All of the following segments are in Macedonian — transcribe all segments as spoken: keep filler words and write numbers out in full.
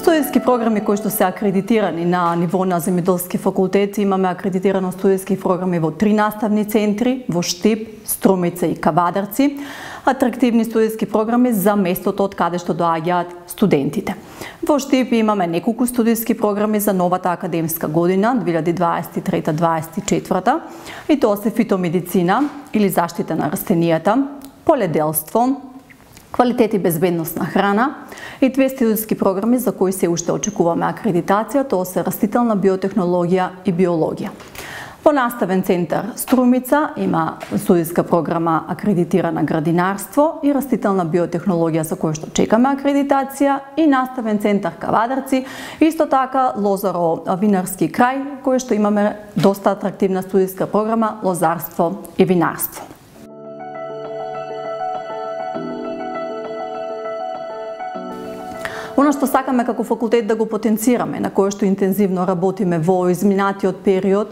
Студентски програми кои што се акредитирани на ниво на земјоделски факултет, имаме акредитирано студентски програми во три наставни центри, во Штип, Струмица и Кавадарци, атрактивни студентски програми за местото од каде што доаѓаат студентите. Во Штип имаме неколку студентски програми за новата академска година две илјади дваесет и трета - дваесет и четврта, и тоа се фитомедицина или заштита на растенијата, поледелство, квалитет и безбедност на храна и две студентски програми за кои се уште очекуваме акредитација, тоа се растителна биотехнологија и биологија. Во наставен центар Струмица има студентска програма акредитирана градинарство и растителна биотехнологија за која што чекаме акредитација, и наставен центар Кавадарци, исто така Лозаро винарски крај, кој што имаме доста атрактивна студентска програма лозарство и винарство. Оно што сакаме како факултет да го потенцираме, на кое што интензивно работиме во изминатиот период,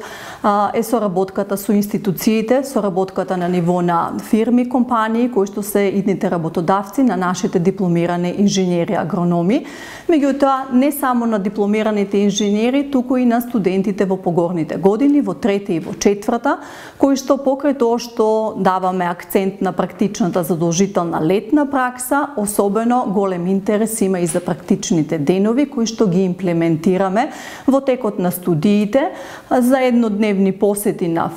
е соработката со институциите, соработката на ниво на фирми, компании, кои што се идните работодавци на нашите дипломирани инженери, агрономи, меѓутоа не само на дипломираните инженери, туку и на студентите во погорните години, во трета и во четврта, кои што покрај тоа што даваме акцент на практичната задолжителна летна пракса, особено голем интерес има и за практичните денови кои што ги имплементираме во текот на студиите, за еднодневни посети на,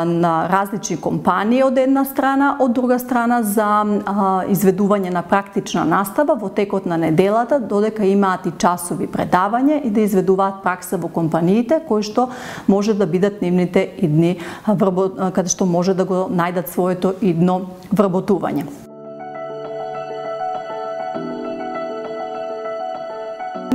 на различни компании од една страна, од друга страна за а, изведување на практична настава во текот на неделата, додека имаат и часови предавање и да изведуваат пракса во компаниите, кои што може да бидат нивните идни, каде што може да го најдат своето идно вработување.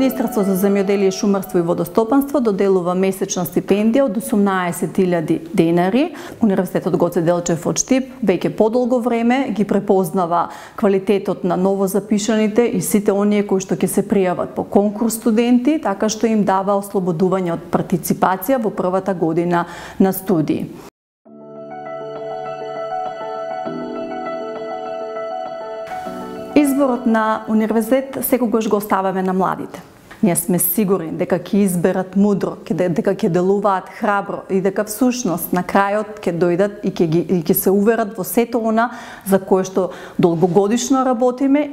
Министерство за земјоделие, шумарство и водостопанство доделува месечна стипендија од осумнаесет илјади денари. Универзитетот Гоце Делчев од Штип веќе подолго време ги препознава квалитетот на новозапишаните и сите оние кои што ќе се пријават по конкурс студенти, така што им дава ослободување од партиципација во првата година на студии. Изборот на универзитет секогаш го оставаме на младите. Ние сме сигурни дека ќе изберат мудро, дека ќе делуваат храбро и дека всушност на крајот ќе дојдат и ќе ги и ќе се уверат во сето она за кое што долгогодишно работиме